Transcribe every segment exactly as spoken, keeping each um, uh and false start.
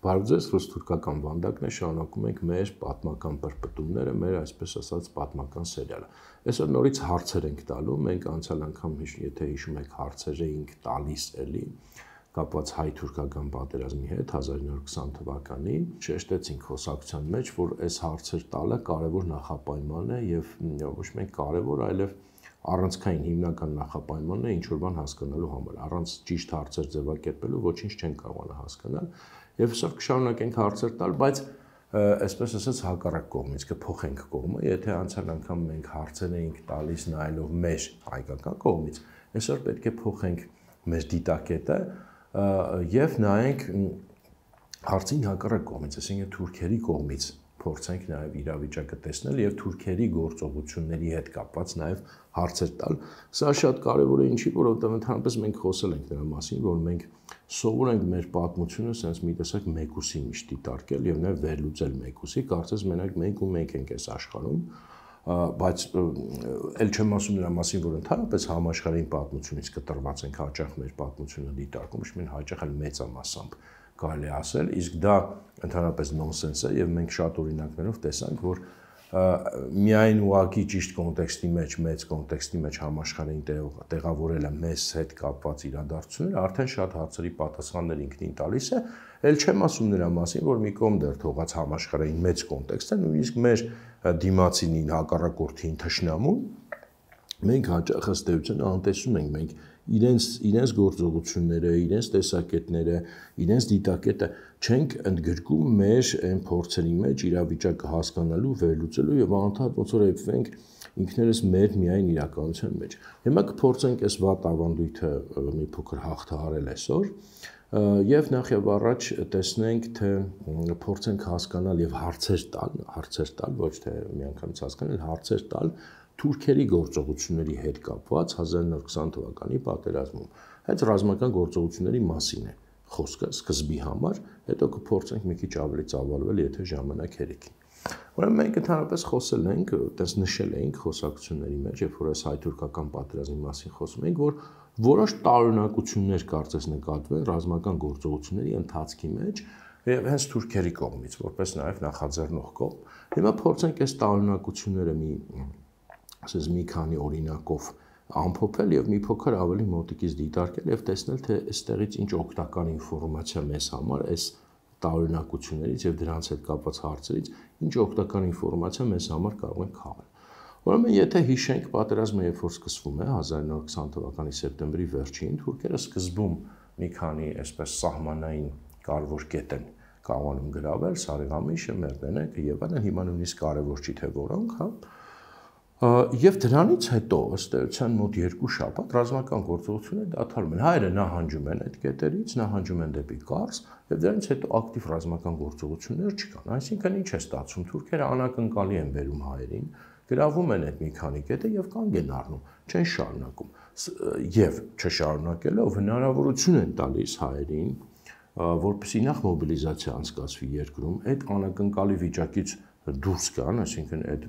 Բարև ձեզ, ռուս-թուրքական վանդակն է, շարունակում ենք մեր պատմական պրպտումները, մեր այսպես ասած պատմական սերիալը։ Այսօր նորից հարցեր ենք տալու, մենք անցյալ անգամ, եթե հիշում եք, հարցեր էինք տալիս էլի, կապված հայ-թուրքական պատերազմի հետ հազար ինը հարյուր քսան թվականին, շեշտեցինք խոսակցության մեջ, որ այս հարցեր տալը կարևոր նախապայման է եւ ոչ միայն կարևոր, այլև առանցքային հիմնական նախապայմանն է ինչ-որ բան հասկանալու համար, առանց ճիշտ հարցեր ձևակերպելու ոչինչ չեն կարողանա հասկանալ։ Եվ այսօր կշարունակենք հարցեր տալ, բայց այսպես ասած հակառակ կողմից կփոխենք կողմը, եթե անցյալ անգամ մենք հարցեր էինք տալիս նայելով մեր հայկական կողմից, այսօր պետք է փոխենք մեր դիտակետը եւ նայենք հարցին հակառակ կողմից, այսինքն թուրքերի կողմից փորձենք նաև իրավիճակը տեսնել եւ թուրքերի գործողությունների հետ կապված նաև հարցեր տալ։ Սա շատ կարեւոր է ինչի, որովհետեւ ընդհանրապես մենք խոսել ենք նրա մասին, որ մենք սովոր ենք մեր պատմությունը sense մի տեսակ մեկուսի միշտ դիտարկել եւ նաև վերլուծել մեկուսի, կարծես մենակ մենք ու մենք ենք այս աշխարհում, բայց ել չեմ ասում նրա մասին, որ ընդհանրապես համաշխարհային պատմությունից կտրված ենք հաճախ մեր պատմությունը դիտարկում, ոչ միայն հաճախ, այլ մեծամասամբ կարելի ասել, իսկ դա ընդհանրապես նոնսենս է եւ մենք շատ օրինակներով տեսանք, որ միայն ուղղակի ճիշտ կոնտեքստի մեջ, մեծ կոնտեքստի մեջ համաշխարհային տեղավորելը մեզ հետ կապված իրադարձությունները արդեն շատ հարցերի պատասխաններ ինքնին տալիս է, ել չեմ ասում նրա մասին, որ մի կողմ դեռ թողած համաշխարհային մեծ կոնտեքստը, նույնիսկ մեր դիմացինին հակառակորդին թշնամուն մենք հաճախ ըստ էության անտեսում ենք, մենք իրենց իրենց գործողությունները, իրենց տեսակետները, իրենց դիտակետը չենք ընդգրկում մեր այն փորձերի մեջ իրավիճակը հասկանալու, վերլուծելու եւ անընդհատ ոնց որ եփվենք ինքներս մեր միայն իրականության մեջ։ Հիմա կփորձենք այս վատ ավանդույթը մի փոքր հաղթահարել այսօր եւ նախ եւ առաջ տեսնենք, թե փորձենք հասկանալ եւ հարցեր տալ, հարցեր տալ, ոչ թե միանգամից հասկանալ, հարցեր տալ թուրքերի գործողությունների հետ կապված հազար ինը հարյուր քսան թվականի պատերազմում։ Այդ ռազմական գործողությունների մասին է խոսքը սկզբի համար, հետո կփորձենք մի քիչ ավելի ծավալվել, եթե ժամանակ հերիքի։ Ուրեմն մենք ընդհանրապես խոսել ենք, այդպես նշել ենք խոսակցությունների մեջ, երբ որ այս հայ-թուրքական պատերազմի մասին խոսում ենք, որ որոշ տարօրինակություններ կարծես նկատվել ռազմական գործողությունների ընթացքի մեջ եւ հենց թուրքերի կողմից, որպես նաեւ նախաձեռնող կողմ։ Հիմա փորձենք այս տարօրինակությունները մի ասես մի քանի օրինակով ամփոփել եւ մի փոքր ավելի մոտիկից դիտարկել եւ տեսնել, թե այստեղից ինչ օգտակար ինֆորմացիա մեզ համար այս տարօրինակություններից եւ դրանց հետ կապված հարցերից ինչ օգտակար ինֆորմացիա մեզ համար կարող են քաղել։ Ուրեմն եթե հիշենք պատերազմը երբ որ սկսվում է հազար ինը հարյուր քսան թվականի սեպտեմբերի վերջին, թուրքերը սկզբում մի քանի այսպես սահմանային կարևոր կետ են կարողանում գրավել, Սարիղամիշը, Մերդենեկը եւ այլն, հիմա նույնիսկ կարևոր չի թե որոնք, հա։ Եվ դրանից հետո ըստ էության մոտ երկու շաբաթ ռազմական գործողությունները դադարում են։ Հայերը նահանջում են այդ կետերից, նահանջում են դեպի Կարս, եւ դրանից հետո ակտիվ ռազմական գործողություններ չկան։ Այսինքն ինչ է ստացվում, թուրքերը անակնկալի են բերում հայերին, գրավում են այդ մի քանի կետը եւ կանգ են առնում, չեն շարունակում։ Եվ չշարունակելով հնարավորություն են տալիս հայերին, որպեսզի նախ մոբիլիզացիա անցկացվի երկրում, այդ անակնկալի վիճակից դուրս գան, այսինքն այդ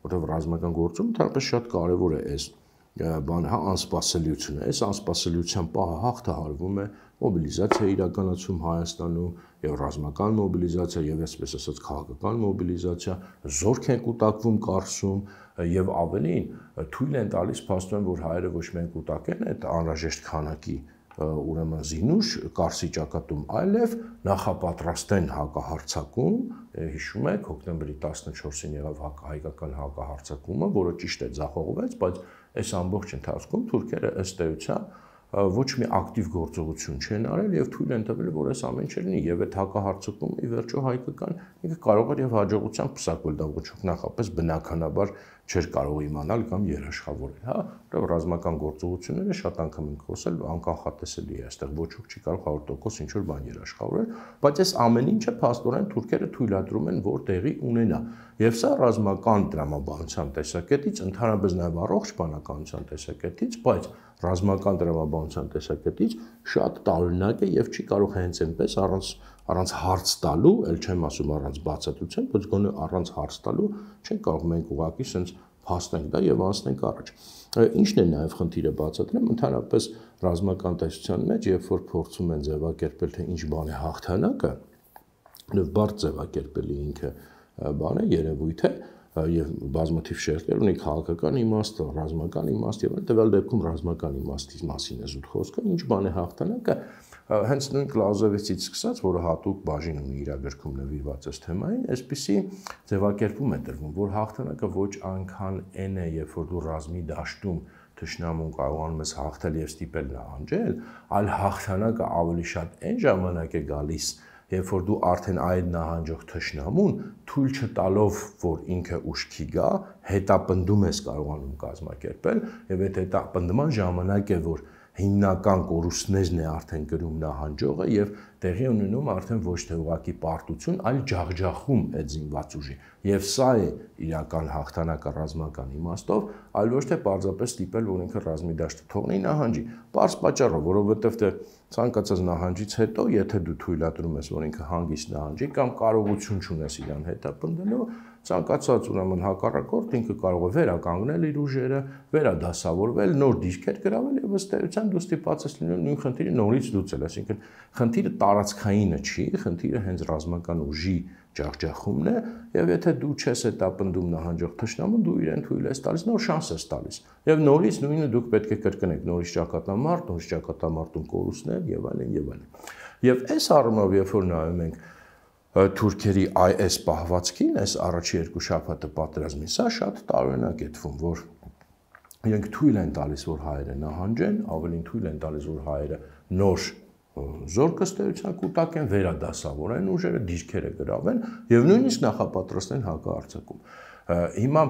որտեղ ռազմական գործում ընդհանրապես շատ կարևոր է այս բանը, հա, անսպասելիությունը։ Այս անսպասելիության պահը հաղթահարվում է մոբիլիզացիա իրականացում Հայաստանում եւ ռազմական մոբիլիզացիա եւ այսպես ասած քաղաքական մոբիլիզացիա, զորք են կուտակվում Կարսում եւ ավելին թույլ են տալիս փաստորեն, որ հայերը ոչ միայն կուտակեն այդ անհրաժեշտ քանակի ուրեմն զինուշ Կարսի ճակատում, այլև նախապատրաստեն հակահարձակում, հիշում եք, հոկտեմբերի տասնչորսին եղավ հայկական հակահարձակումը, որը ճիշտ է ձախողվեց, բայց այս ամբողջ ընթացքում թուրքերը ըստ էության ոչ մի ակտիվ գործողություն չեն արել եւ թույլ են տվել, որ այս ամեն ինչը լինի եւ այդ հակահարձակումը ի վերջո հայկական ինքը կարող էր եւ հաջողությամբ պսակվել, դա ոչ նախապես բնականաբար չէր կարող իմանալ կամ երաշխավորել, հա, որովհետեւ ռազմական գործողությունները շատ անգամ ենք խոսել, անկանխատեսելի է, այստեղ ոչ ոք չի կարող հարյուր տոկոս ինչ որ բան երաշխավորել, բայց այս ամեն ինչը փաստորեն թուրքերը թույլատրում են, որ տեղի ունենա։ Եվ սա ռազմական տրամաբանության տեսակետից, ընդհանրապես նաև առողջ բանականության տեսակետից, բայց ռազմական տրամաբանության տեսակետից շատ տարօրինակ է եւ չի կարող հենց այնպես առանց առանց հարց տալու, ել չեմ ասում առանց բացատրության, բայց գոնե առանց հարց տալու չեն կարող մենք ուղղակի sense փաստենք դա եւ անցնենք առաջ։ Ինչն է նաեւ խնդիրը բացատրեմ, ընդհանրապես ռազմական տեսության մեջ, երբ որ փորձում են ձևակերպել, թե ինչ բան է հաղթանակը, Եվ բարդ ձևակերպելի ինքը բան է, երևույթ է, եւ բազմաթիվ շերտեր ունի քաղաքական իմաստ, ռազմական իմաստ եւ տվյալ դեպքում ռազմական իմաստի մասին է զուտ խոսքը, ինչ բան է հաղթանակը, հենց նույն Կլաուզևիցից սկսած, որը հատուկ բաժին ունի իր գրքում նվիրված այս թեմային, այսպիսի ձևակերպում է տրվում, որ հաղթանակը ոչ այնքան այն է, երբ որ դու ռազմի դաշտում թշնամուն կարողանում ես հաղթել եւ ստիպել նահանջել, այլ հաղթանակը ավելի շատ այն ժամանակ է գալիս, երբ որ դու արդեն այդ նահանջող թշնամուն թույլ չտալով, որ ինքը ուշքի գա, հետապնդում ես կարողանում կազմակերպել եւ այդ հետապնդման ժամանակ է, որ հիմնական կորուստներն է արդեն գրում նահանջողը եւ տեղի ունենում արդեն ոչ թե ուղղակի պարտություն, այլ ջախջախում այդ զինված ուժի։ Եվ սա է իրական հաղթանակը ռազմական իմաստով, այլ ոչ թե պարզապես ստիպել, որ ինքը ռազմի դաշտը թողնի նահանջի։ Պարզ պատճառով, որովհետեւ թե ցանկացած նահանջից հետո, եթե դու թույլատրում ես, որ ինքը հանգիստ նահանջի կամ կարողություն չունես իրան հետապնդելու, ցանկացած ուրեմն հակառակորդ ինքը կարող է վերականգնել իր ուժերը, վերադասավորվել, նոր դիրքեր գրավել եւ ըստ էության դու ստիպված ես լինել նույն խնդիրը նորից լուծել, այսինքն խնդիրը տարածքայինը չի, խնդիրը հենց ռազմական ուժի ջախջախումն է եւ եթե դու չես հետապնդում նահանջող թշնամուն, դու իրեն թույլ ես տալիս, նոր շանս ես տալիս եւ նորից նույնը դուք պետք է կրկնեք, նորից ճակատամարտ, նորից ճակատամարտում կորուստներ եւ այլն եւ այլն։ Եվ այս առումով, երբ որ նայում ենք թուրքերի այս պահվածքին, այս առաջի երկու շաբաթը պատերազմին, սա շատ տարօրինակ է թվում, որ իրենք թույլ են տալիս, որ հայերը նահանջեն, ավելին թույլ են տալիս, որ հայերը նոր զորքստեյության կուտակեն, վերադասավորեն ուժերը, դիրքերը գրավեն եւ նույնիսկ նախապատրաստեն հակահարձակում։ Հիմա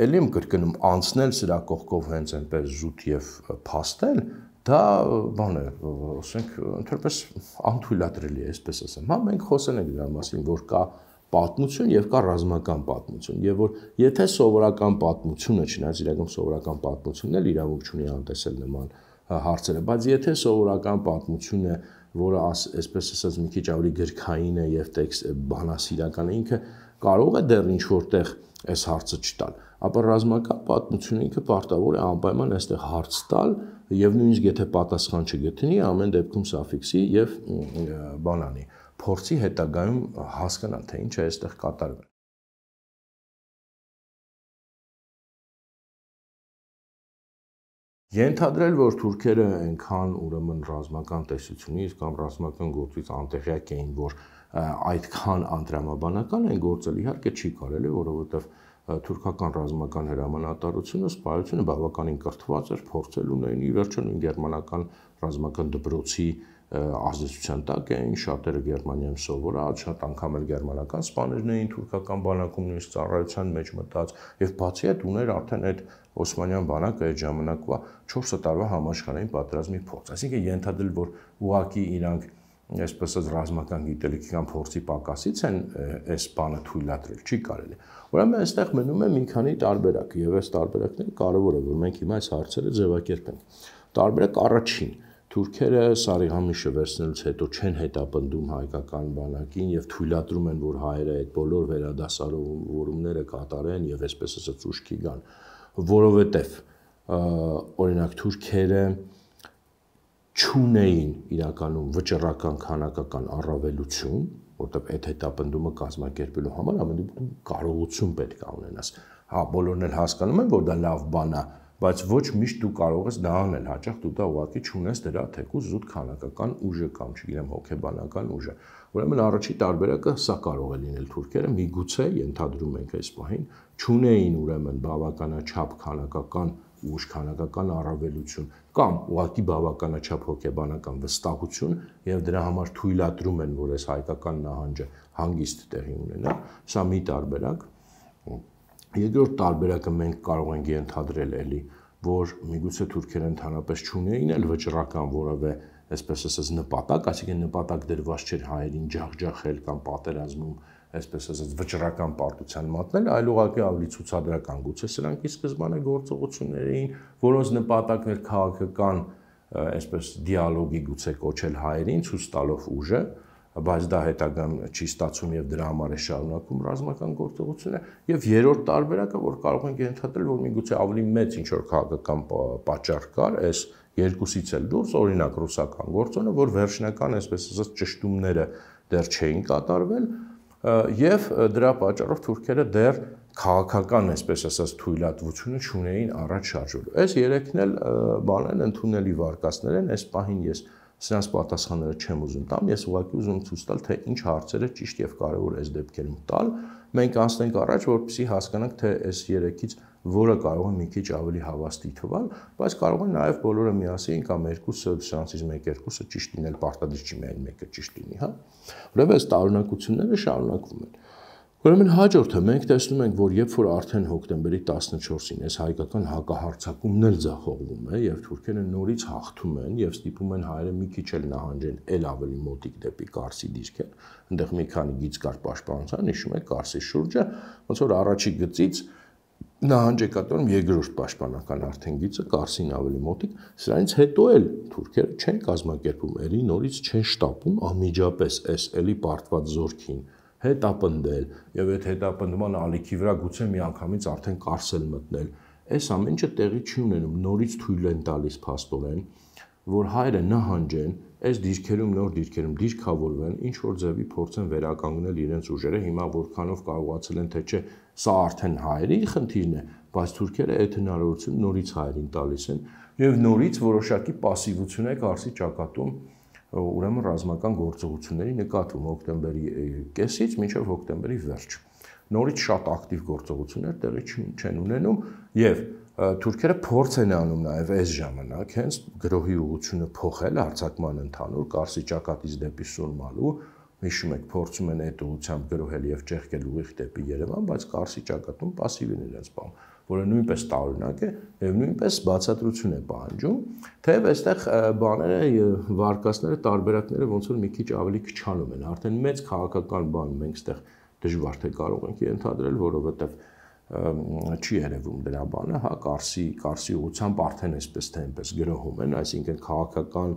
ելի եմ կրկնում, անցնել սրա կողքով հենց այնպես զուտ եւ փաստել, դա բան է, ասենք, ընդհանրապես անթույլատրելի է, այսպես ասեմ։ Հա մենք խոսել ենք դրա մասին, որ կա պատմություն եւ կա ռազմական պատմություն, եւ որ եթե սովորական պատմությունը, չնայած իրական սովորական պատմությունն էլ իրավունք չունի անտեսել նման հարցերը, բայց եթե սովորական պատմություն է, որը այսպես ասած մի քիչ ավելի գրքային է եւ տեքստ բանասիրական է, ինքը կարող է դեռ ինչ որտեղ այս հարցը չտալ, ապա ռազմական պատմությունը ինքը պարտավոր է անպայման այստեղ հարց տալ եւ նույնիսկ եթե պատասխան չգտնի, ամեն դեպքում սաֆիքսի եւ բանանի փորձի հետագայում հասկանալ, թե ինչ է այստեղ կատարվել։ Ենթադրել, որ թուրքերը այնքան ուրեմն ռազմական տեսությունից կամ ռազմական գործից անտեղյակ էին, որ այդքան անտրամաբանական են գործել, իհարկե չի կարելի, որովհետև թուրքական ռազմական հրամանատարությունը, սպայությունը բավականին կրթված էր, փորձել ունեին, ի վերջո նույն գերմանական ռազմական դպրոցի ազդեցության տակ էին, շատերը Գերմանիայում սովորած, շատ անգամ էլ գերմանական սպաներն էին թուրքական բանակում նույնիսկ ծառայության մեջ մտած եւ բացի այդ ուներ արդեն այդ Օսմանյան բանակը այդ ժամանակվա չորս տարվա համաշխարհային պատերազմի փորձ, այսինքն ենթադրել, որ ուղղակի իրանք այսպես ասած ռազմական գիտելիքի կամ փորձի պակասից են այս բանը թույլատրել, չի կարելի։ Ուրեմն այստեղ մնում է մի քանի տարբերակ եւ այս տարբերակները կարեւոր է, որ մենք հիմա այս հարցերը ձևակերպենք։ Տարբերակ առաջին, թուրքերը Սարիղամիշը վերցնելուց հետո չեն հետապնդում հայկական բանակին եւ թույլատրում են, որ հայերը այդ բոլոր վերադասավորումները կատարեն եւ այսպես ասած ուշքի գան, որովհետեւ օրինակ թուրքերը չունեին իրականում վճռական քանակական առավելություն, որտեղ այդ հետապնդումը կազմակերպելու համար ամենուր կարողություն պետք է ունենաս։ Հա, բոլորն էլ հասկանում են, որ դա լավ բան է, բայց ոչ միշտ դու կարող ես դա անել, հաճախ դու դա ուղղակի չունես դրա թեկուզ զուտ քանակական ուժը կամ չգիտեմ հոգեբանական ուժը։ Ուրեմն առաջի տարբերակը սա կարող է լինել թուրքերը միգուցե ենթադրում ենք այս պահին չունեին ուրեմն բավականաչափ քանակական ուժ, քանակական առավելություն կամ ուղղակի բավականաչափ հոգեբանական վստահություն եւ դրա համար թույլատրում են, որ այս հայկական նահանջը հանգիստ տեղի ունենա, սա մի տարբերակ։ Երկրորդ տարբերակը մենք կարող ենք ենթադրել էլի, որ միգուցե թուրքերը ընդհանրապես չունեին էլ վճռական որևէ, այսպես ասած, նպատակ, այսինքն նպատակ դրված չէր հայերին ջախջախել կամ պատերազմում, այսպես ասած, վճռական պարտության մատնել, այլ ուղղակի ավելի ցուցադրական, գուցե սրանք ի սկզբանե գործողություններ էին, որոնց նպատակն էր քաղաքական, այսպես դիալոգի գուցե կոչել հայերին, ցույց տալով ուժը, բայց դա հետագան չի ստացվում եւ դրա համար է շարունակում ռազմական գործողությունը եւ երրորդ տարբերակը, որ կարող ենք ենթադրել, որ միգուցե ավելի մեծ ինչ որ քաղաքական պատճառ կար, այս երկուսից էլ դուրս, օրինակ ռուսական գործոնը, որ վերջնական, այսպես ասած, ճշտումները դեռ չէին կատարվել եւ դրա պատճառով թուրքերը դեռ քաղաքական, այսպես ասած, թույլատվությունը չունեին առաջ շարժվելու։ Այս երեքն էլ բաներն ընդունելի վարկածներ են, այս պահին ես սրանց պատասխանները չեմ ուզում տամ, ես ուղղակի ուզում ցույց տալ, թե ինչ հարցեր է ճիշտ եւ կարեւոր այս դեպքերում տալ։ Մենք անցնենք առաջ, որպեսզի հասկանանք, թե այս երեքից որը կարող է մի քիչ ավելի հավաստի թվալ, բայց կարող է նաեւ բոլորը միասին կամ երկուսը, սրանցից մեկ-երկուսը ճիշտ լինել, պարտադիր չի միայն մեկը ճիշտ լինի, հա։ Ուրեմն այս տարօրինակությունները շարունակվում են։ Ուրեմն հաջորդը մենք տեսնում ենք, որ երբ որ արդեն հոկտեմբերի տասնչորսին այս հայկական հակահարձակումն էլ ձախողվում է եւ թուրքերը նորից հաղթում են եւ ստիպում են հայերը մի քիչ էլ նահանջեն էլ ավելի մոտիկ դեպի Կարսի դիրքեր, այնտեղ մի քանի գիծ կար պաշտպանության, հիշում եք Կարսի շուրջը, ոնց որ առաջի գծից նահանջ է կատարում երկրորդ պաշտպանական արդեն գիծը Կարսին ավելի մոտիկ, սրանից հետո էլ թուրքերը չեն կազմակերպում, ելի նորից չեն շտապում անմիջապես այս էլի պարտված զորքին հետապնդել եւ այդ հետապնդման ալիքի վրա գուցե միանգամից արդեն Կարսել մտնել։ Այս ամեն ինչը տեղի չի ունենում, նորից թույլ են տալիս փաստորեն, որ հայերը նահանջեն, այս դիրքերում նոր դիրքերում դիրքավորվեն, ինչ որ ձևի փորձեն վերականգնել իրենց ուժերը, հիմա որքանով կարողացել են, թե չէ, սա արդեն հայերի խնդիրն է, բայց թուրքերը այդ հնարավորությունը նորից հայերին տալիս են եւ նորից որոշակի пассивություն է Կարսի ճակատում ուրեմն ռազմական գործողությունների նկատվում հոկտեմբերի կեսից մինչև հոկտեմբերի վերջ։ Նորից շատ ակտիվ գործողություններ տեղի չեն ունենում եւ թուրքերը փորձ են անում նաեւ այս ժամանակ հենց գրոհի ուղղությունը փոխել արձակման ընդհանուր Կարսի ճակատից դեպի Սուրմալու, հիշում եք, փորձում են այդ ուղղությամբ գրոհել եւ ճեղքել ուղիղ դեպի Երևան, բայց Կարսի ճակատում пассив են իրենց բան, որը նույնպես տարօրինակ է եւ նույնպես բացատրություն է պահանջում, թեև այստեղ բաները վարկածները տարբերակները ոնց որ մի քիչ ավելի քչանում են, արդեն մեծ քաղաքական բան մենք այստեղ դժվար թե կարող ենք ենթադրել, որովհետեւ չի երևում դրա բանը, հա, Կարսի Կարսի ուղղությամբ արդեն այսպես թե այնպես գրոհում են, այսինքն քաղաքական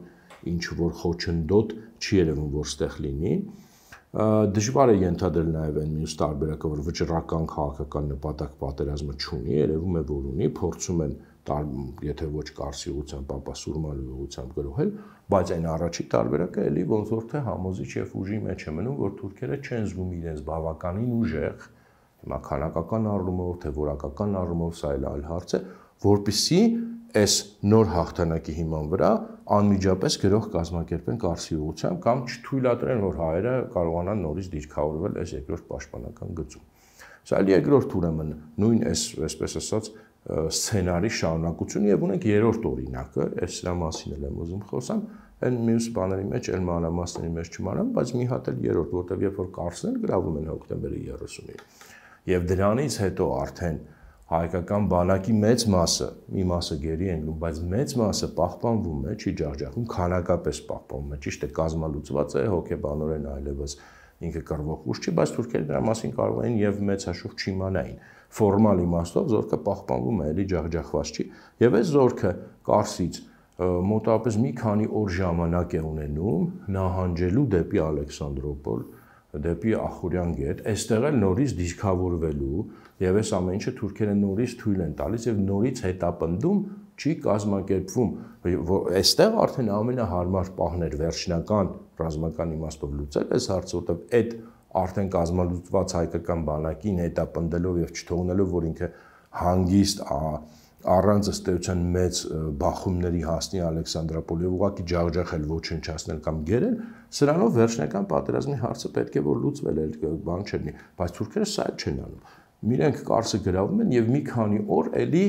ինչ որ խոչընդոտ չի երևում, որ ստեղ լինի։ Դժվար է ենթադրել նաև այն մյուս տարբերակը, որ վճռական քաղաքական նպատակ պատերազմը չունի, երևում է, որ ունի, փորձում են, եթե ոչ Կարսի ուղղությամբ, ապա Սուրմալու ուղղությամբ գրոհել, բայց այն առաջի տարբերակը էլի ոնց որ թե համոզիչ եւ ուժի մեջ է մնում, որ թուրքերը չեն զգում իրենց բավականին ուժեղ, հիմա քանակական առումով, թե որակական առումով, սա էլ այլ հարց է, որպեսզի այս նոր հաղթանակի հիման վրա անմիջապես գրող կազմակերպեն Կարսի ուղղությամբ կամ չթույլատրեն, որ հայերը կարողանան նորից դիրքավորվել այս երկրորդ պաշտպանական գծում։ Սա էլ երկրորդ ուրեմն նույն այս, այսպես ասած, սցենարի շարունակություն եւ ունենք երրորդ օրինակը, այս սրա մասին էլ եմ ուզում խոսամ, այն մյուս բաների մեջ էլ մանրամասների մեջ չմանամ, բայց մի հատ էլ երրորդ, որտեղ երբ որ Կարսն գրավում են հոկտեմբերի երեսունին եւ դրանից հետո արդեն հայկական բանակի մեծ մասը, մի մասը գերի են գնում, բայց մեծ մասը պահպանվում է, չի ջախջախվում, քանակապես պահպանվում է, ճիշտ է, կազմալուծված է, հոգեբանորեն այլևս ինքը կռվող ուժ չի, բայց թուրքերը դրա մասին կարող են եւ մեծ հաշվով չիմանային։ Ֆորմալ իմաստով զորքը պահպանվում է, էլի ջախջախված չի, եւ այս զորքը Կարսից մոտավորապես մի քանի օր ժամանակ է ունենում նահանջելու դեպի Ալեքսանդրոպոլ, դեպի Ախուրյան գետ, այստեղ էլ նորից դիրքավորվելու եւ այս ամեն ինչը թուրքերը նորից թույլ են տալիս եւ նորից հետապնդում չի կազմակերպվում, այստեղ արդեն ամենահարմար պահն էր վերջնական ռազմական իմաստով լուծել այս հարցը, որտեղ այդ արդեն կազմալուծված հայկական բանակին հետապնդելով եւ չթողնելով, որ ինքը հանգիստ առանց ըստ էության մեծ բախումների հասնի Ալեքսանդրոպոլի եւ ուղղակի ջախջախել ոչնչացնել կամ գերել, սրանով վերջնական պատերազմի հարցը պետք է որ լուծվել է, բան չլինի, բայց թուրքերը սա էլ չեն անում։ Իրենք Կարսը գրավում են եւ մի քանի օր էլի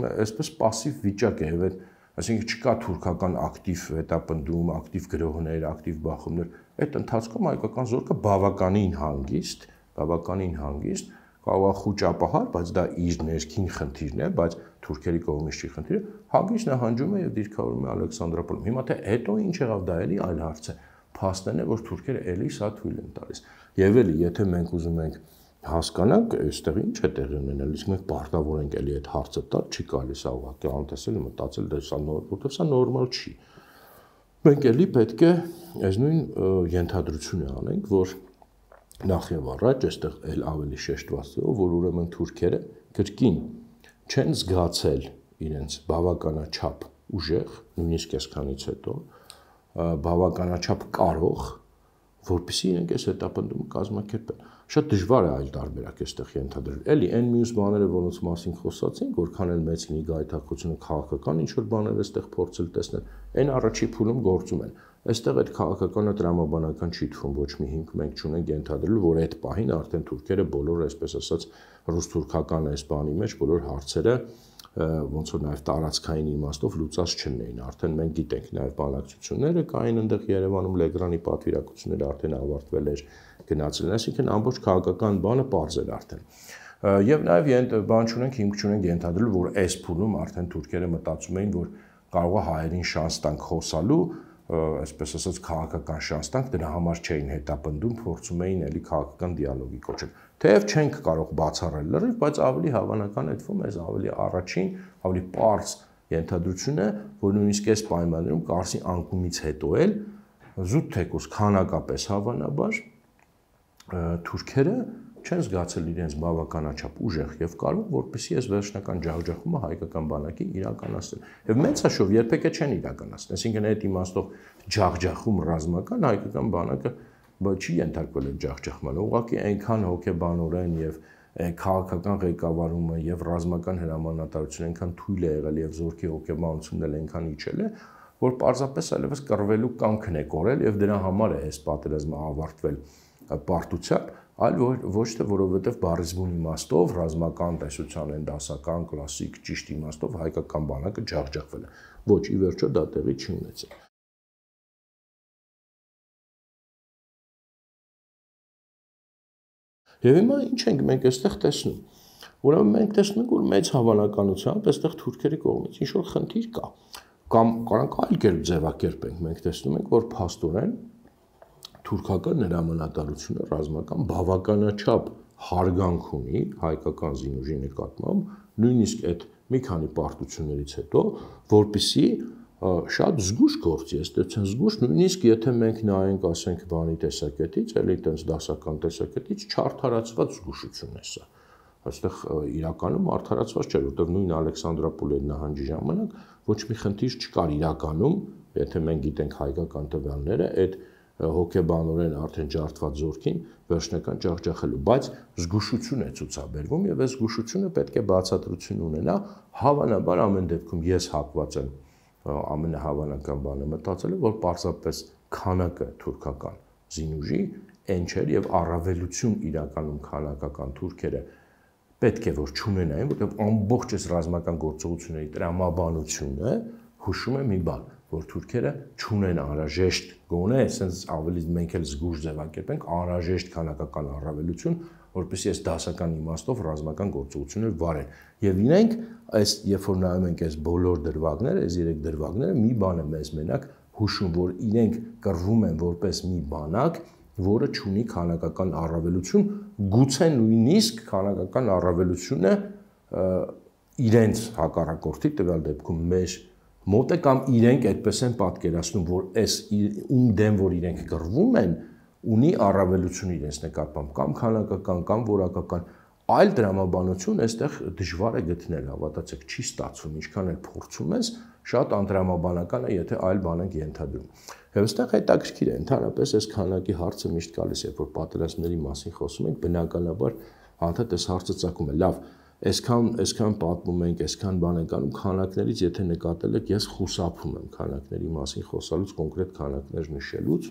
այսպես пассив վիճակ է, եւ այսինքն չկա թուրքական ակտիվ հետապնդում, ակտիվ գրոհներ, ակտիվ բախումներ։ Այդ ընթացքում հայկական զորքը բավականին հանգիստ, բավականին հանգիստ կարող է խոճապահար, բայց դա իր ներքին խնդիրն է, բայց թուրքերի կողմից չի խնդիրը, հանգիստ նահանջում է եւ դիրքավորում է Ալեքսանդրոպոլում։ Հիմա թե հետո ինչ եղավ, դա էլի այլ հարց է։ Փաստն է, որ թուրքերը էլի սա թույլ են տալիս։ Եվ էլի, եթե մենք ուզում ենք հասկանանք, այստեղ ինչ է տեղի ունենել, իսկ մենք պարտավոր ենք էլի այդ հարցը տալ, չի կարելի սա ուղղակի անտեսել, մտածել դա սա որտեղ սա նորմալ չի։ Մենք էլի պետք է այս նույն ենթադրությունը անենք, որ նախ եւ առաջ այստեղ էլ ավելի շեշտված է, որ ուրեմն թուրքերը կրկին չեն զգացել իրենց բավականաչափ ուժեղ, նույնիսկ այսքանից հետո, բավականաչափ կարող, որպեսզի իրենք այս հետապնդումը կազմակերպեն։ Շատ դժվար է այլ տարբերակ այստեղ ենթադրել։ Էլի այն մյուս բաները, որոնց մասին խոսացինք, որքան էլ մեծ լինի գայթակղությունը քաղաքական ինչ որ բաներ այստեղ փորձել տեսնել, այն առաջի փուլում գործում են։ Այստեղ այդ քաղաքականը տրամաբանական չի թվում, ոչ մի հիմք մենք չունենք ենթադրել, որ այդ պահին արդեն թուրքերը բոլոր, այսպես ասած, ռուս-թուրքական այս բանի մեջ բոլոր հարցերը ոնց որ նաև տարածքային իմաստով լուծած չնեին։ Արդեն մենք գիտենք նաև բանակցությունները կային այնտեղ Երևանում, Լեգրանի պատվիրակությունները արդեն ավարտվել էր, գնացել են, այսինքն ամբողջ քաղաքական բանը պարզ էր արդեն։ Եվ նաև բան չունենք, հիմք չունենք ենթադրել, որ այս փուլում արդեն թուրքերը մտածում էին, որ կարող է հայերին շանս տանք խոսալու, այսպես ասած քաղաքական շանս տանք, դրա համար չէին հետապնդում, փորձում էին էլի քաղաքական դիալոգի կոչել։ Թեև չենք կարող բացառել լրիվ, բայց ավելի հավանական է թվում, այս ավելի առաջին, ավելի պարզ ենթադրություն է, որ նույնիսկ այս պայմաններում Կարսի անկումից հետո էլ զուտ թեկուզ քանակապես հավանաբար թուրքերը չեն զգացել իրենց բավականաչափ ուժեղ եւ կարող, որպեսզի այս վերջնական ջախջախումը հայկական բանակի իրականացնեն։ Եվ մեծաշով երբեք չեն իրականացնել, այսինքն այդ իմաստով ջախջախում ռազմական հայկական բանակը չի ենթարկվել այդ ջախջախմանը, ուղղակի այնքան հոգեբանորեն եւ քաղաքական ղեկավարումը եւ ռազմական հրամանատարությունը այնքան թույլ է եղել եւ զորքի հոգեբանությունն էլ այնքան իջել է, որ պարզապես այլևս կռվելու կամքն է կորել եւ դրա համար է այս պատերազմը ավարտվել պարտությամբ, այլ ոչ թե որովհետև բառիզմուն իմաստով ռազմական տեսության են դասական կլասիկ ճիշտ իմաստով հայկական բանակը ջախջախվել է։ Ոչ, ի վերջո դա տեղի չի ունեցել։ Եվ հիմա ինչ ենք մենք այստեղ տեսնում։ Ուրեմն մենք տեսնում ենք, որ մեծ հավանականությամբ այստեղ թուրքերի կողմից ինչ որ խնդիր կա։ Կամ կարանք այլ կերպ ձևակերպենք, մենք տեսնում ենք, որ փաստորեն թուրքական հրամանատարությունը ռազմական բավականաչափ հարգանք ունի հայկական զինուժի նկատմամբ, նույնիսկ այդ մի քանի պարտություններից հետո, որպեսզի շատ զգուշ գործի, այստեղ զգուշ, նույնիսկ եթե մենք նայենք, ասենք, բանի տեսակետից, էլի այդպես դասական տեսակետից չարդարացված զգուշություն է սա։ Այստեղ իրականում արդարացված չէր, որտեղ նույն Ալեքսանդրապոլի նահանջի ժամանակ ոչ մի խնդիր չկար իրականում, եթե մենք գիտենք հայկական տվյալները, այդ հոգեբանորեն արդեն ջարդված զորքին վերջնական ջախջախելու, բայց զգուշություն է ցուցաբերվում եւ այս զգուշությունը պետք է բացատրություն ունենա, հավանաբար ամեն դեպքում ես հակված եմ ամենահավանական բանը մտածել, որ պարզապես քանակը թուրքական զինուժի այն չէր եւ առավելություն իրականում քանակական թուրքերը պետք է որ չունենային, որտեղ ամբողջ այս ռազմական գործողությունների տրամաբանությունը հուշում է մի բան, որ թուրքերը չունեն անհրաժեշտ գոնե, այսպես ավելի մենք էլ զգուշ ձևակերպենք, անհրաժեշտ քանակական առավելություն, որպեսզի այս դասական իմաստով ռազմական գործողություններ վարեն։ Եվ իրենք այս երբ որ նայում ենք այս բոլոր դրվագները, այս երեք դրվագները, մի բան է մեզ մենակ հուշում, որ իրենք կռվում են որպես մի բանակ, որը չունի քանակական առավելություն, գուցե նույնիսկ քանակական առավելությունը իրենց հակառակորդի տվյալ դեպքում մեր մոտ է կամ իրենք այդպես են պատկերացնում, որ այս ում դեմ որ իրենք կռվում են, ունի առավելություն իրենց նկատմամբ, կամ քանակական, կամ որակական, այլ դրամաբանություն այստեղ դժվար է գտնել, հավատացեք, չի ստացվում, ինչքան էլ փորձում ես, շատ անդրամաբանական է, եթե այլ բան ենք ենթադրում։ Եվ այստեղ հետաքրքիր է, ընդհանրապես այս քանակի հարցը միշտ գալիս է, որ պատերազմների մասին խոսում ենք, բնականաբար անդադ այս հարցը ծագում է, լավ, այսքան այսքան պատմում ենք, այսքան բան ենք անում քանակներից, եթե նկատել եք, ես խուսափում եմ քանակների մասին խոսալուց, կոնկրետ քանակներ նշելուց,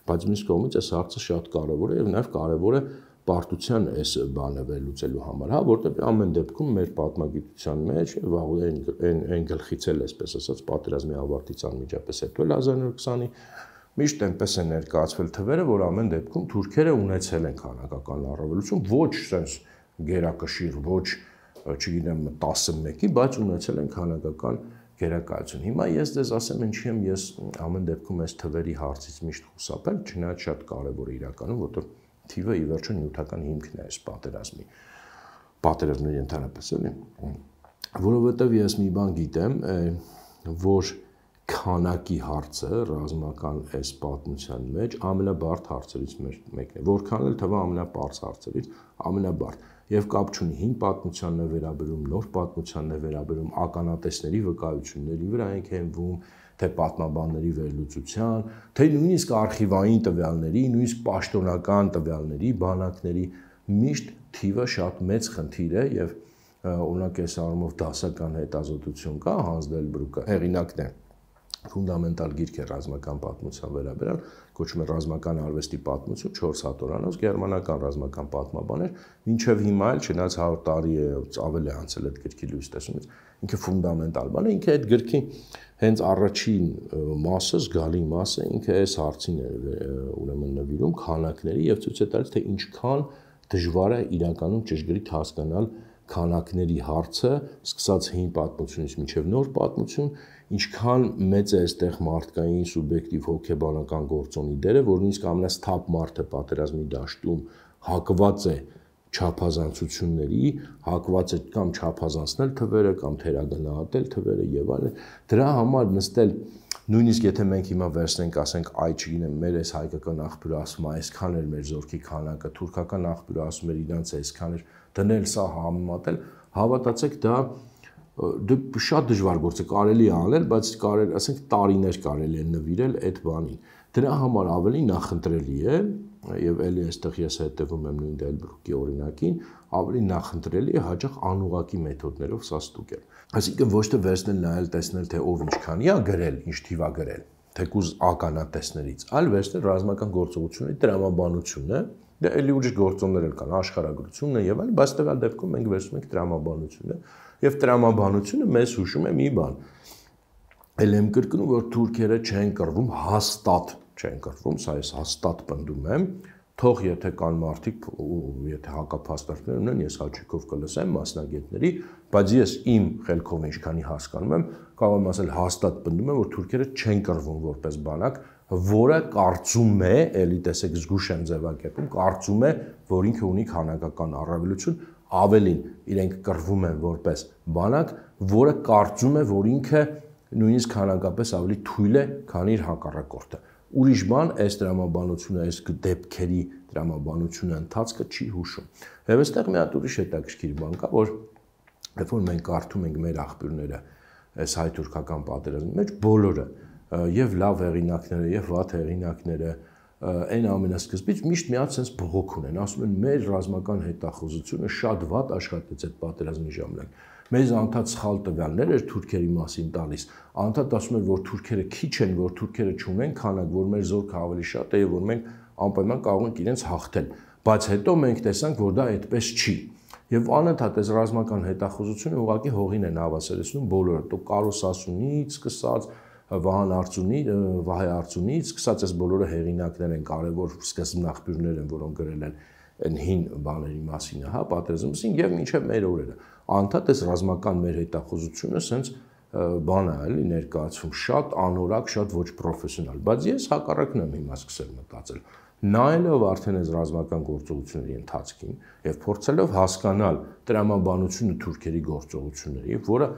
բայց մյուս կողմից այս հարցը շատ կարևոր է եւ նաեւ կարևոր է պարտության այս բանը վերլուծելու համար, հա, որտեղ ամեն դեպքում մեր պատմագիտության մեջ վաղուց այն այն գլխից էլ այսպես ասած պատերազմի ավարտից անմիջապես հետո հազար նորը քսանի միշտ այնպես է ներկայացվել թվերը, որ ամեն դեպքում թուրքերը ունեցել են քանակական առավելություն, ոչ sense գերակշիռ, ոչ չգիտեմ տասնմեկի, բայց ունեցել են քանակական գերակայություն։ Հիմա ես դες ասեմ ինչի եմ ես ամեն դեպքում այս թվերի հարցից միշտ խուսափել, չնայած շատ կարևոր է իրականում, որտեղ թիվը ի վերջո նյութական հիմքն է այս պատերազմի։ Պատերազմների ընդհանրապես էլի, որովհետև ես մի բան գիտեմ, որ քանակի հարցը ռազմական այս պատմության մեջ ամենաբարդ հարցերից մեկն է, որքան էլ թվա ամենապարզ հարցերից ամենաբարդ եւ կապ չունի հին պատմությանն է վերաբերում, նոր պատմությանն է վերաբերում, ականատեսների վկայությունների վրա ենք հենվում, թե պատմաբանների վերլուծության, թե նույնիսկ արխիվային տվյալների, նույնիսկ պաշտոնական տվյալների, բանակների միշտ թիվը շատ մեծ խնդիր է եւ օրինակ այս առումով դասական հետազոտություն կա, Հանս Դելբրուկը հեղինակն է ֆունդամենտալ գիրք է ռազմական պատմության վերաբերյալ, կոչվում է ռազմական արվեստի պատմություն, չորս հատորանոց, գերմանական ռազմական պատմաբան էր, մինչև հիմա էլ չնայած հարյուր տարի է ավելի է անցել այդ գրքի լույս տեսումից, ինքը ֆունդամենտալ բան է, ինքը այդ գրքի հենց առաջին մասը, զգալի մասը, ինքը այս հարցին է ուրեմն նվիրում քանակների եւ ցույց է տալիս, թե ինչքան դժվար է իրականում ճշգրիտ հասկանալ քանակների հարցը, սկսած հին պատմությունից մինչև նոր պատմություն, ինչքան մեծ է այստեղ մարդկային սուբյեկտիվ հոգեբանական գործոնի դերը, որ նույնիսկ ամենասթափ մարդը պատերազմի դաշտում հակված է չափազանցությունների, հակված է կամ չափազանցնել թվերը, կամ թերագնահատել թվերը եւ այլն։ Դրա համար նստել նույնիսկ եթե մենք հիմա վերցնենք, ասենք, այ չգիտեմ, մեր այս հայկական աղբյուրը ասում է, այսքան էր մեր զորքի քանակը, թուրքական աղբյուրը ասում էր իրանց այսքան էր, դնել սա համեմատել, հավատացեք, դա դե շատ դժվար գործ է, կարելի է անել, բայց կարելի, ասենք, տարիներ կարելի է նվիրել այդ բանին։ Դրա համար ավելի նախընտրելի է, եւ էլի այստեղ ես հետևում եմ նույն Դելբրուկի օրինակին, ավելի նախընտրելի է հաճախ անուղղակի մեթոդներով սա ստուգել։ Այսինքն ոչ թե վերցնել նայել տեսնել, թե ով ինչքանի է գրել, ինչ թիվ է գրել, թեկուզ ականատեսներից, այլ վերցնել ռազմական գործողությունների տրամաբանությունը, դա էլի ուրիշ գործոններ էլ կան, աշխարհագրությունն է եւ այլն, բայց տվյալ դեպքում մենք վերցնում ենք տրամաբանությունը, եւ տրամաբանությունը մեզ հուշում է մի բան։ Էլ եմ կրկնում, որ թուրքերը չեն կռվում հաստատ, չեն կռվում, սա ես հաստատ պնդում եմ, թող եթե կան մարդիկ, եթե հակափաստարկներ ունեն, ես հաճույքով կլսեմ մասնագետների, բայց ես իմ խելքով ինչքանի հասկանում եմ, կարող եմ ասել հաստատ պնդում եմ, որ թուրքերը չեն կռվում որպես բանակ, որը կարծում է, էլի տեսեք զգուշ եմ ձևակերպում, կարծում է, որ ինքը ունի քանակական առավելություն, ավելին իրենք կռվում են որպես բանակ, որը կարծում է, որ ինքը նույնիսկ քանակապես ավելի թույլ է, քան իր հակառակորդը։ Ուրիշ բան այս տրամաբանությունը, այս դեպքերի տրամաբանությունը ընթացքը չի հուշում։ Եվ այստեղ մի հատ ուրիշ հետաքրքիր բան կա, որ երբ որ մենք կարդում ենք մեր աղբյուրները այս հայ-թուրքական պատերազմի մեջ, բոլորը եւ լավ հեղինակները, եւ վատ հեղինակները, այն ամենասկզբից միշտ մի հատ sense բողոք ունեն, ասում են մեր ռազմական հետախուզությունը շատ վատ աշխատեց այդ պատերազմի ժամանակ։ Մեզ անդադ սխալ տվյալներ էր թուրքերի մասին տալիս, անդադ ասում էր, որ թուրքերը քիչ են, որ թուրքերը չունեն քանակ, որ մեր զորքը ավելի շատ է եւ որ մենք անպայման կարող ենք իրենց հաղթել, բայց հետո մենք տեսանք, որ դա այդպես չի։ Եվ անընդհատ այս ռազմական հետախուզությունը ուղղակի հողին են հավասարեցնում բոլորը, տո Կարոս Ասունից սկսած, Վահան Արծունի, Վահե Արծունից սկսած այս բոլորը հեղինակներ են, կարևոր սկզբնաղբյուրներ են, որոնք գրել են այն հին բաների մասին, հա, պատերազմի մասին եւ մինչեւ մեր օրերը։ Անդադ այս ռազմական մեր հետախուզությունը սենց բան է, էլի ներկայացում, շատ անորակ, շատ ոչ պրոֆեսիոնալ, բայց ես հակառակն եմ հիմա սկսել մտածել։ Նայելով արդեն այս ռազմական գործողությունների ընթացքին եւ փորձելով հասկանալ տրամաբանությունը թուրքերի գործողությունների, որը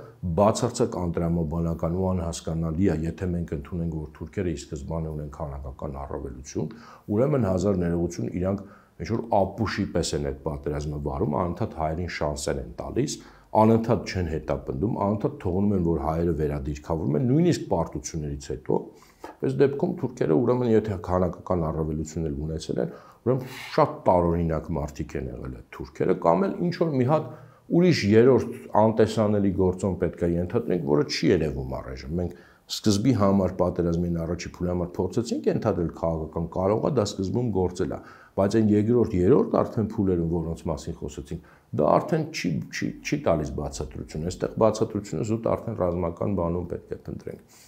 բացարձակ անտրամաբանական ու անհասկանալի է, եթե մենք ընդունենք, որ թուրքերը ի սկզբանե ունեն քանակական առավելություն, ուրեմն հազար ներողություն իրանք ինչ-որ ապուշի պես են այդ պատերազմը վարում, անընդհատ հայերին շանսեր են տալիս, անընդհատ չեն հետապնդում, անընդհատ թողնում են, որ հայերը վերադիրքավորվում են, նույնիսկ պարտություններից հետո։ Այս դեպքում թուրքերը ուրեմն եթե քանակական առավելություն էլ ունեցել են, ուրեմն շատ տարօրինակ մարդիկ են եղել այդ թուրքերը, կամ էլ ինչ որ մի հատ ուրիշ երրորդ անտեսանելի գործոն պետք է ենթադրենք, որը չի երևում առայժմ։ Մենք սկզբի համար պատերազմին առաջի փուլի համար փորձեցինք ենթադրել քաղաքական, կարող է դա սկզբում գործել է, բայց այն երկրորդ, երրորդ արդեն փուլերում, որոնց մասին խոսեցինք, դա արդեն չի չի չի տալիս բացատրություն։ Այստեղ բացատրությունը զուտ արդեն ռազմական բանում պետք է փնտրենք։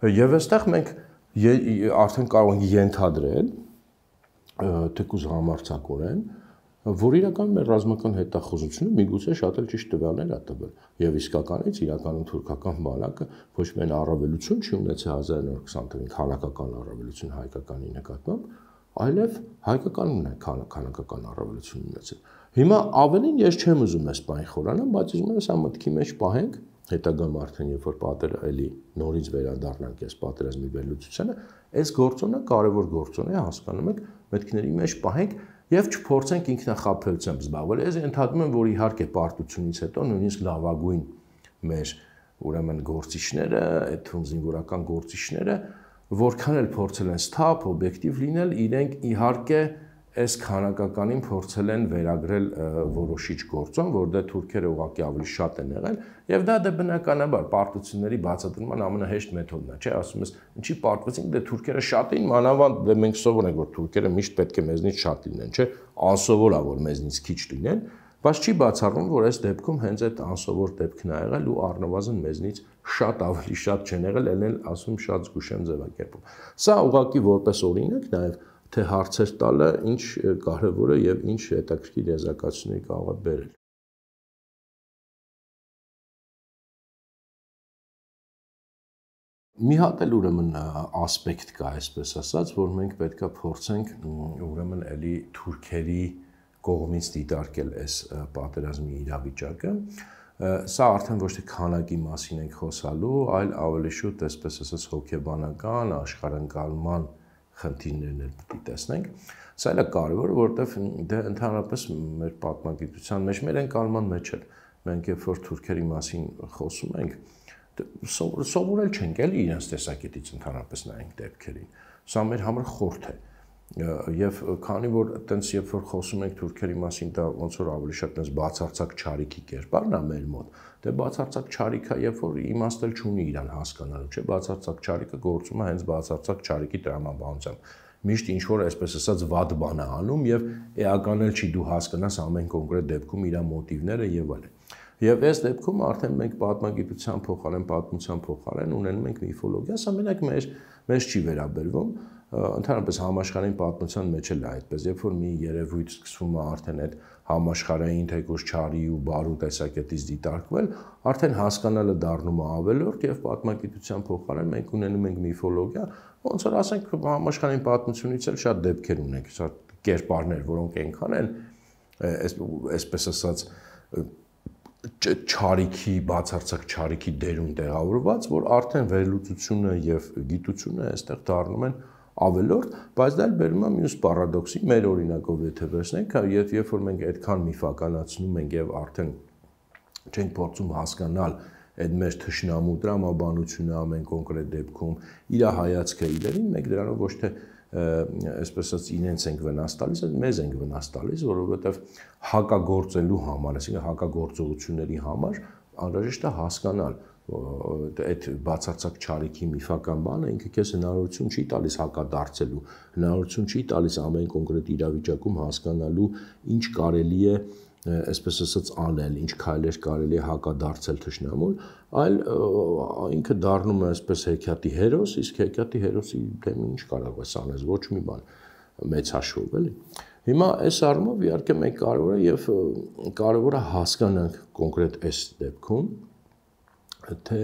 Եվ այստեղ մենք արդեն կարող ենք ենթադրել, թեկուզ համարձակորեն, որ իրականում մեր ռազմական հետախուզությունը միգուցե շատ էլ ճիշտ տվյալներ է տվել, եւ իսկականից իրականում թուրքական բանակը ոչ միայն առավելություն չի ունեցել հազար նոր քսան թվականին քանակական առավելություն հայկականի նկատմամբ, այլև հայկականն է քանակական առավելություն ունեցել։ Հիմա ավելին ես չեմ ուզում այս բանի խորանալ, բայց ուզում եմ սա մտքի մեջ պահենք, հետագայում արդեն երբ որ պատերը էլի նորից վերադառնանք այս պատերազմի վերլուծությանը, այս գործոնը կարևոր գործոն է, հասկանում եք, մտքների մեջ պահենք եւ չփորձենք ինքնախաբեությամբ զբաղվել։ Ես ընդհանրում եմ, որ իհարկե պարտությունից հետո նույնիսկ լավագույն մեր ուրեմն գործիչները, այդ թվում զինվորական գործիչները, որքան էլ փորձել են սթափ, օբյեկտիվ լինել, իրենք իհարկե այս քանակականին փորձել են վերագրել որոշիչ գործոն, որտեղ թուրքերը ուղղակի ավելի շատ են եղել, եւ դա դե բնականաբար պարտությունների բացատրման ամենահեշտ մեթոդն է, չէ՞, ասում ես, ինչի պարտվեցինք, դե թուրքերը շատ էին, մանավանդ դե մենք սովոր ենք, որ թուրքերը միշտ պետք է մեզնից շատ լինեն, չէ՞, անսովոր է, որ մեզնից քիչ լինեն, բայց չի բացառվում, որ այս դեպքում հենց այդ անսովոր դեպքն է եղել ու առնվազն մեզնից շատ ավելի շատ չեն եղել, ելնել ասում շատ զգուշեմ ձևակերպում։ Սա ուղղակի որպես օրինակ նաեւ թե հարցեր տալը ինչ կարևոր է եւ ինչ հետաքրքիր եզրակացություններ կարող է բերել։ Մի հատ էլ ուրեմն ասպեկտ կա, այսպես ասած, որ մենք պետքա փորձենք ուրեմն էլի թուրքերի կողմից դիտարկել այս պատերազմի իրավիճակը։ Սա արդեն ոչ թե քանակի մասին ենք խոսալու, այլ ավելի շուտ, այսպես ասած, հոգեբանական, աշխարհընկալման խնդիրներն էլ պետք է տեսնենք։ Սա էլ է կարևոր, որովհետև դե ընդհանրապես մեր պատմագիտության մեջ, մեր ընկալման մեջ էլ մենք երբ որ թուրքերի մասին խոսում ենք, սովորել չենք էլի իրենց տեսակետից ընդհանրապես նայենք դեպքերին։ Սա մեր համար խորթ է։ Եվ քանի որ այտենց երբ որ խոսում ենք թուրքերի մասին, դա ոնց որ ավելի շատ այտենց բացարձակ չարիքի կերպարն է մեր մոտ, դե բացարձակ չարիքը երբ որ իմաստել չունի իրան հասկանալու, չէ՞, բացարձակ չարիքը գործում է հենց բացարձակ չարիքի տրամաբանությամբ։ Միշտ ինչ որ այսպես ասած վատ բան է անում եւ էական էլ չի դու հասկանաս ամեն կոնկրետ դեպքում իր մոտիվները եւ այլն։ Եվ այս դեպքում արդեն մենք պատմագիտության փոխարեն, պատմության փոխարեն ունենում ենք միֆոլոգիա, սա մենակ մեր մեզ չի վերաբերվում, ընդհանրապես համաշխարհային պատմության մեջ էլ է այդպես, երբ որ մի երևույթ սկսվում է արդեն այդ համաշխարհային թեկուզ չարի ու բարու տեսակետից դիտարկվել, արդեն հասկանալը դառնում է ավելորդ եւ պատմագիտության փոխարեն մենք ունենում ենք միֆոլոգիա, ոնց որ ասենք համաշխարհային պատմությունից էլ շատ դեպքեր ունենք, շատ կերպարներ, որոնք այնքան են այսպես ասած չարիքի, բացարձակ չարիքի դերում տեղավորված, որ արդեն վերլուծությունը եւ գիտությունը այստեղ դառնում են ավելորդ, բայց դա էլ բերում է մյուս պարադոքսի, մեր օրինակով եթե վերցնենք, եւ երբ որ մենք այդքան միֆականացնում ենք եւ արդեն չենք փորձում հասկանալ այդ մեր թշնամու տրամաբանությունը ամեն կոնկրետ դեպքում, իր հայացքը իրեն, մենք դրանով ոչ թե այսպես ասած իրենց ենք վնաս տալիս, այլ մեզ ենք վնաս տալիս, որովհետև հակագործելու համար, այսինքն հակագործողությունների համար անհրաժեշտ է հասկանալ այդ բացարձակ չարիքի միֆական բանը, ինքը քեզ հնարավորություն չի տալիս հակադարձելու, հնարավորություն չի տալիս ամեն կոնկրետ իրավիճակում հասկանալու ինչ կարելի է այսպես ասած անել, ինչ քայլեր կարելի է հակադարձել թշնամուն, այլ ինքը դառնում է այսպես հեքիաթի հերոս, իսկ հեքիաթի հերոսի դեմ ինչ կարող է անել, ոչ մի բան մեծ հաշվով, էլի։ Հիմա այս առումով իհարկե մենք կարևոր է եւ կարևոր է հասկանանք կոնկրետ այս դեպքում, թե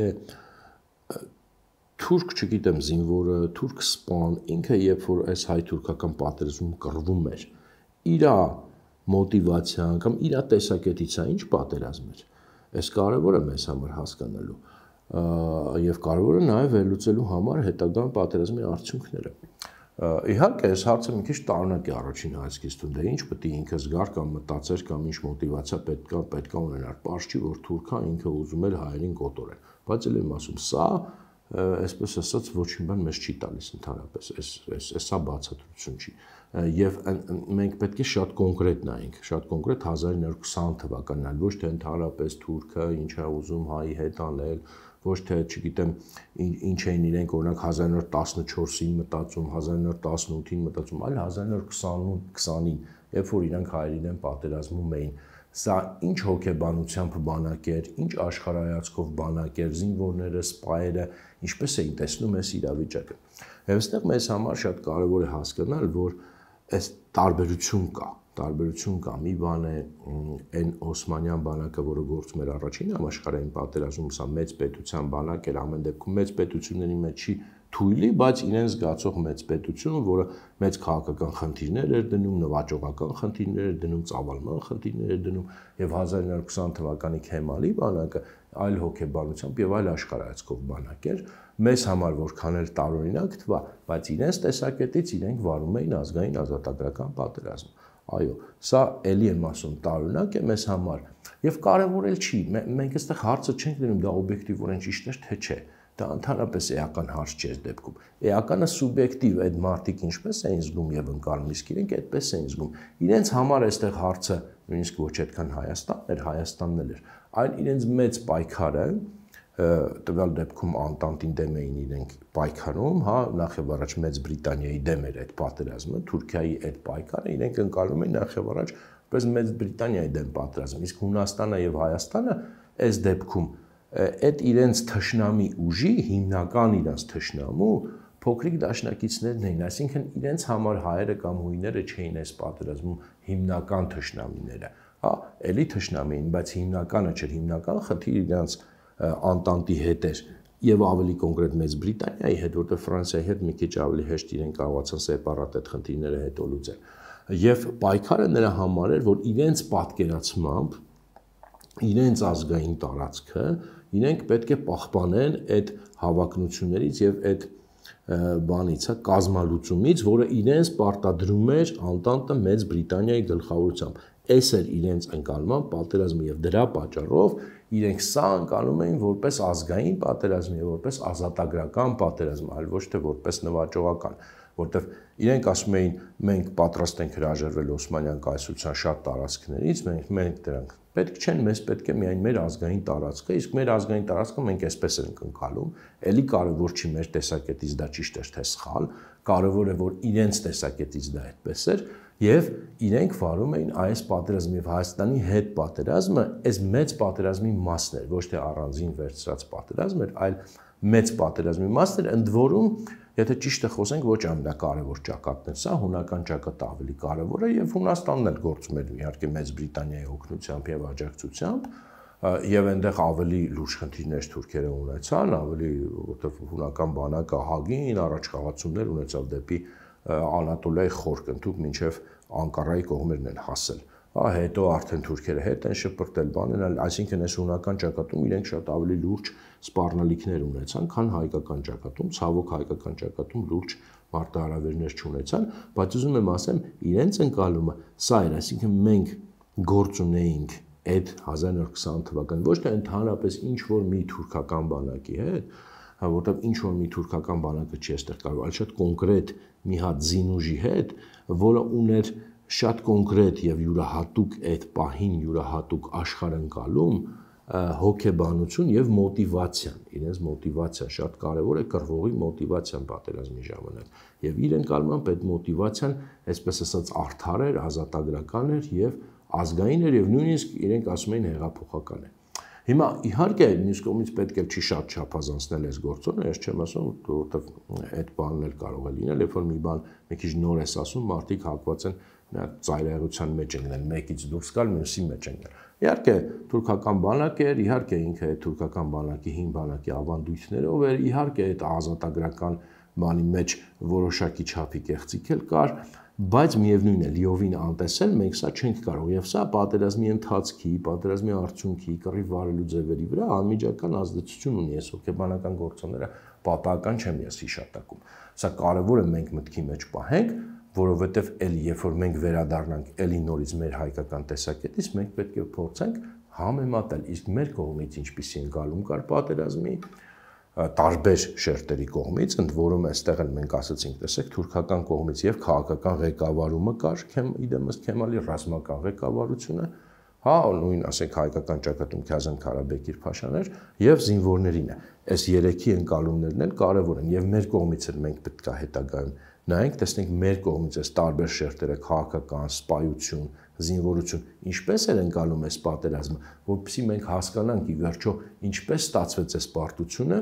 թուրք, չգիտեմ, զինվորը, թուրք սպան, ինքը երբ որ այս հայ-թուրքական պատերազմում կռվում էր, իր մոտիվացիան կամ իր տեսակետից է ինչ պատերազմ էր։ Այս կարևոր է մեզ համար հասկանալու եւ կարևոր է նաեւ վերլուծելու համար հետագա պատերազմի արդյունքները։ Իհարկե, այս հարցը մի քիչ տարօրինակ է առաջին հայացքից դե ինչ պետք է ինքը զգար կամ մտածեր կամ ինչ մոտիվացիա պետք է պետք է ունենար։ Պարզ չի, որ թուրքը ինքը ուզում էր հայերին կոտորել։ Բայց էլ եմ ասում, սա այսպես ասած ոչինչ բան մեզ չի տալիս ընդհանրապես, այս այս սա բացատրություն չի։ Եվ մենք պետք է շատ կոնկրետ նայենք, շատ կոնկրետ հազար ինը հարյուր քսան թվականն այլ ոչ թե ընդհանրապես թուրքը ինչ է ուզում հայի հետ անել, ոչ թե, չգիտեմ, ինչ էին իրենք օրինակ հազար ինը հարյուր տասնչորսին մտածում, հազար ինը հարյուր տասնութին մտածում, այլ հազար ինը հարյուր քսանին, երբ որ իրանք հայերին են պատերազմում էին։ Սա ինչ հոգեբանությամբ բանակ էր, ինչ աշխարհայացքով բանակ էր, զինվորները, սպայերը, ինչպես էին տեսնում այս իրավիճակը։ Եվ այստեղ մեզ համար շատ կարևոր է հասկանալ, որ այս տարբերություն կա, տարբերություն կա, մի բան է այն օսմանյան բանակը, որը գործում էր առաջին համաշխարհային պատերազմում, սա մեծ պետության բանակ էր, ամեն դեպքում մեծ պետությունների մեջ չի թույլի, բայց իրեն զգացող մեծ պետություն, որը մեծ քաղաքական խնդիրներ էր դնում, նվաճողական խնդիրներ էր դնում, ծավալման խնդիրներ էր դնում, եւ հազար ինը հարյուր քսան թվականի Քեմալի բանակը այլ հոգեբանությամբ եւ այլ աշխարհայացքով բանակ էր, մեզ համար որքան էլ տարօրինակ թվա, բայց իրենց տեսակետից իրենք վարում էին ազգային ազատագրական պատերազմ։ Այո, սա էլի եմ ասում, տարօրինակ է մեզ համար եւ կարեւոր էլ չի։ Մենք այստեղ հարցը չենք դնում դա օբյեկտիվորեն ճիշտ է թե չէ։ Դա ընդհանրապես էական հարց չէ այս դեպքում։ Էականը սուբյեկտիվ այդ մարդիկ ինչպես էին զգում եւ ընկալում, իսկ իրենք այդպես էին զգում։ Իրենց համար այստեղ հարցը նույնիսկ ոչ այդքան Հայաստանն էր, Հայաստանն էլ էր, այլ իրենց մեծ պայքարը տվյալ դեպքում Անտանտին դեմ էին իրենք պայքարում, հա, նախ եւ առաջ Մեծ Բրիտանիայի դեմ էր այդ պատերազմը, Թուրքիայի այդ պայքարը իրենք ընկալում էին նախ եւ առաջ որպես Մեծ Բրիտանիայի դեմ պատերազմ, իսկ Հունաստանը եւ Հայաստանը այս դեպքում այդ իրենց թշնամի ուժի հիմնական իրենց թշնամու փոքրիկ դաշնակիցներն էին, այսինքն իրենց համար հայերը կամ հույները չէին այս պատերազմում հիմնական թշնամիները, հա, էլի թշնամի էին, բայց հիմնականը չէր, հիմնական խնդիրը իրենց Անտանտի հետ էր եւ ավելի կոնկրետ Մեծ Բրիտանիայի հետ, որտեղ Ֆրանսիայի հետ մի քիչ ավելի հեշտ իրեն կարողացան սեպարատետ խնդիրները հետո լուծել։ Եվ պայքարը նրա համար էր, որ իրենց պատկերացմամբ իրենց ազգային տարածքը իրենք պետք է պահպանեն այդ հավակնություններից եւ այդ բանից, հա, կազմալուծումից, որը իրենց պարտադրում էր Անտանտը Մեծ Բրիտանիայի գլխավորությամբ։ Այս էր իրենց ընկալման պատերազմը եւ դրա պատճառով իրենք սա ընկալում էին որպես ազգային պատերազմ եւ որպես ազատագրական պատերազմ, այլ ոչ թե որպես նվաճողական, որտեվ իրենք ասում էին մենք պատրաստ ենք հրաժարվել Օսմանյան կայսրության շատ տարածքներից, մենք մենք դրանք պետք չեն, մեզ պետք է միայն մեր ազգային տարածքը, իսկ մեր ազգային տարածքը մենք այսպես ենք ընկալում, էլի կարևոր չի մեր տեսակետից դա ճիշտ էր թե սխալ, կարևոր է որ իրենց տեսակետից դա այդպես էր եւ իրենք վարում էին այս պատերազմը եւ Հայաստանի հետ պատերազմը այս մեծ պատերազմի մասն էր, ոչ թե առանձին վերցրած պատերազմ էր, այլ մեծ պատերազմի մասն էր, ընդ որում, եթե ճիշտ է խոսենք, ոչ ամենակարևոր ճակատն էր, սա հունական ճակատը ավելի կարևոր է եւ Հունաստանն էլ գործում էր իհարկե Մեծ Բրիտանիայի օգնությամբ եւ աջակցությամբ եւ այնտեղ ավելի լուրջ խնդիրներ թուրքերը ունեցան, ավելի որտեղ հունական բանակը հագին առաջխաղացումներ ունեցավ դեպի Անատոլիայի խորկնդուկ մինչև Անկարայի կողմերն են հասել։ Հա, հետո արդեն թուրքերը հետ են շպրտել բանել, այսինքն այս հունական ճակատում իրենք շատ ավելի լուրջ սպառնալիքներ ունեցան, քան հայկական ճակատում, ցավոք հայկական ճակատում լուրջ մարտահրավերներ չունեցան, բայց ուզում եմ ասեմ, իրենց ընկալումը սա էր, այսինքն մենք գործ ունեինք այդ հազար նորը քսան թվական, ոչ թե ընդհանրապես ինչ որ մի թուրքական բանակի հետ, հա, որտեղ ինչ որ մի թուրքական բանակը չի այստեղ կարող, այլ շատ կոնկրետ մի հատ զինուժի հետ, որը ուներ շատ կոնկրետ եւ յուրահատուկ այդ պահին յուրահատուկ աշխարհընկալում, հոգեբանություն եւ մոտիվացիան, իրենց մոտիվացիան շատ կարեւոր է կռվողի մոտիվացիան պատերազմի ժամանակ եւ իր ընկալմամբ այդ մոտիվացիան, այսպես ասած, արդար էր, ազատագրական էր եւ ազգային էր եւ նույնիսկ իրենք ասում էին հեղափոխական է։ Հիմա իհարկե մյուս կողմից պետք է չի շատ չափազանցնել այս գործոնը, ես չեմ ասում, որովհետեւ այդ բանն էլ կարող է լինել, երբ որ մի բան մի քիչ նոր ես ասում, մարդիկ հակված են նա ծայրահեղության մեջ են գնել, մեկից դուրս գալ, մյուսի մեջ են գնել։ Իհարկե թուրքական բանակ էր, իհարկե ինքը այդ թուրքական բանակի հին բանակի ավանդույթներով էր, իհարկե այդ ազատագրական բանի մեջ որոշակի չափի կեղծիք էլ կար, բայց միևնույն է լիովին անտեսել մենք սա չենք կարող եւ սա պատերազմի ընթացքի, պատերազմի արդյունքի, կռիվ վարելու ձևերի վրա անմիջական ազդեցություն ունի, այս հոգեբանական գործոնները պատահական չեմ ես հիշատակում։ Սա կարեւոր է մենք մտքի մեջ պահենք, որովհետեւ էլի երբ որ մենք վերադառնանք էլի նորից մեր հայկական տեսակետից, մենք պետք է փորձենք համեմատել, իսկ մեր կողմից ինչպիսի ընկալում կար պատերազմի տարբեր շերտերի կողմից, ընդ որում այստեղ էլ մենք ասացինք, տեսեք, թուրքական կողմից եւ քաղաքական ղեկավարումը կար, իդեմս Քեմալի ռազմական ղեկավարությունը, հա, նույն ասենք հայկական ճակատում Քազան Քարաբեկիր Փաշաներ եւ զինվորներին է։ Այս երեքի ընկալումներն էլ կարեւոր են եւ մեր կողմից էլ մենք պետք է հետագայում նայենք, տեսնենք մեր կողմից այս տարբեր շերտերը քաղաքական, սպայություն, զինվորություն, ինչպես էր ընկալում այս պատերազմը, որովհետեւ մենք հասկանանք ի վերջո ինչպես ստացվեց այս պարտությունը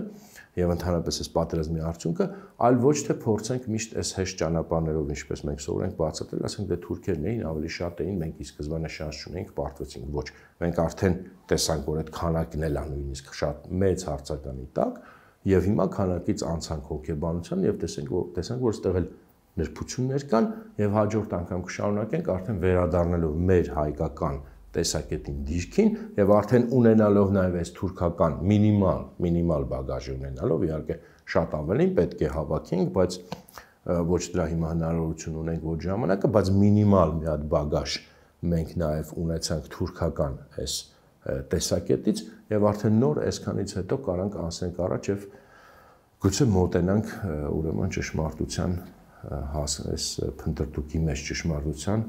եւ ընդհանրապես այս պատերազմի արդյունքը, այլ ոչ թե փորձենք միշտ այս հեշտ ճանապարհներով, ինչպես մենք սովորենք բացատրել, ասենք դե թուրքերն էին, ավելի շատ էին, մենք ի սկզբանե շանս չունեինք, պարտվեցինք, ոչ, մենք արդեն տեսանք, որ այդ քանակն էլ է նույնիսկ շատ մեծ հարցականի տակ եւ հիմա քանակից անցանք հոգեբանության եւ տեսենք, որ տեսանք, որ այստեղ էլ նրբություններ կան եւ հաջորդ անգամ կշարունակենք արդեն վերադառնալով մեր հայկական տեսակետին դիրքին եւ արդեն ունենալով նաեւ այս թուրքական մինիմալ մինիմալ բագաժի ունենալով իհարկե շատ ավելին պետք է հավաքենք, բայց ոչ դրա հիմա հնարավորություն ունենք ոչ ժամանակը, բայց մինիմալ մի հատ բագաժ մենք նաև ունեցանք թուրքական այս տեսակետից եւ արդեն նոր այսքանից հետո կարանք անցնենք առաջ եւ գուցե մոտենանք ուրեմն ճշմարտության այս փնտրտուքի մեջ ճշմարտության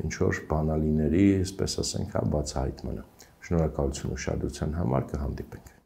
ինչ որ բանալիների, այսպես ասենք, բացահայտմանը։ Շնորհակալություն ուշադրության համար, կհանդիպենք։